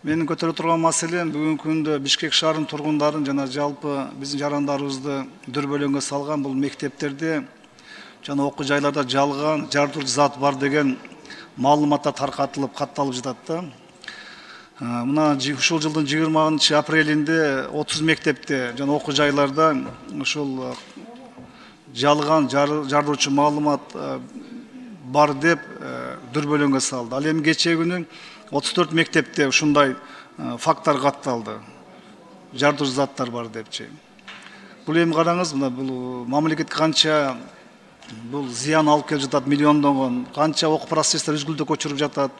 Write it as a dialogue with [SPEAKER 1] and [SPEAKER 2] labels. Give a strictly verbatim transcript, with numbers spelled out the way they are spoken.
[SPEAKER 1] Менин көтөрүп турган маселем бүгүнкү күндө Бишкек шаарынын тургундарын жана жалпы биздин жарандарыбызды дүрбөлөңгө салган бул мектептерде жана окуу жайларда жалган жардырчу зат бар деген маалыматтар таркатылып катталып жатат да. Мына ушул жылдын жыйырманчы апрелинде отуз мектепте жана окуу жайларда ушул жалган жардырчу маалымат бар деп дүрбөлөңгө салды. Ал эми кечээ күнү отуз төрт мектепте ушундай факттар катталды. Жардырчу заттар бар депчи. Бул эми караңыз, мына бул мамлекетке канча бул зыян алып келип жатат, миллиондогон, канча окуу процесстер үзгүлтүккө учуруп жатат.